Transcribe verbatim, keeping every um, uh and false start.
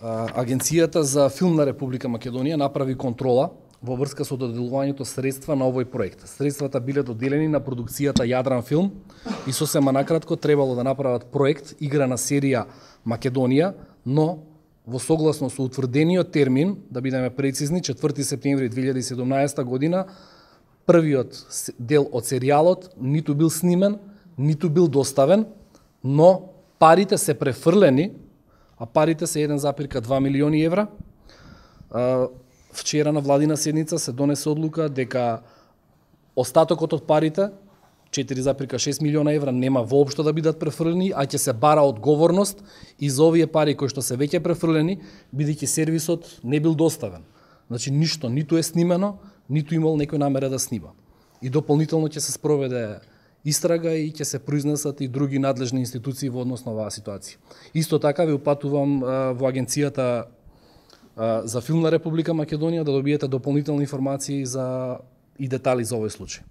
Агенцијата за филм на Република Македонија направи контрола во врска со доделувањето средства на овој проект. Средствата биле доделени на продукцијата Јадран филм и сосема накратко требало да направат проект играна серија Македонија, но во согласно со утврдениот термин, да бидеме прецизни, четврти септември две илјади и седумнаесета година, првиот дел од серијалот ниту бил снимен, ниту бил доставен, но парите се префрлени, а парите се еден запирка два милиони евра. Вчера на владина седница се донесе одлука дека остатокот од парите, четири запирка шест милиона евра, нема воопшто да бидат префрлени, а ќе се бара одговорност и за овие пари кои што се веќе префрлени, бидејќи сервисот не бил доставен. Значи ништо, ниту е снимено, ниту имал некој намера да снима. И дополнително ќе се спроведе истрага и ќе се произнесат и други надлежни институции во однос на оваа ситуација. Исто така ви упатувам во Агенцијата за филм на Република Македонија да добиете дополнителни информации за и детали за овој случај.